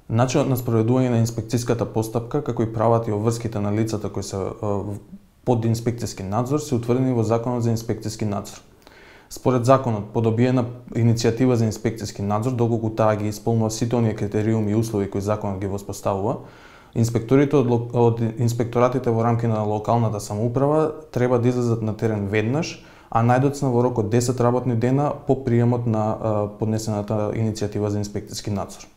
Начинот на спроведување на инспекцијската постапка, како и правата и обврските на лицата кои се под инспекцијски надзор се утврдени во Законот за инспекцијски надзор. Според законот, по добиена иницијатива за инспекцијски надзор, доколку таа ги исполнува сите оние критериуми и услови кои законот ги воспоставува, инспекторите од инспекторатите во рамки на локалната самоуправа треба да излезат на терен веднаш, а најдоцна во рок од 10 работни дена по приемот на поднесената иницијатива за инспекцијски надзор.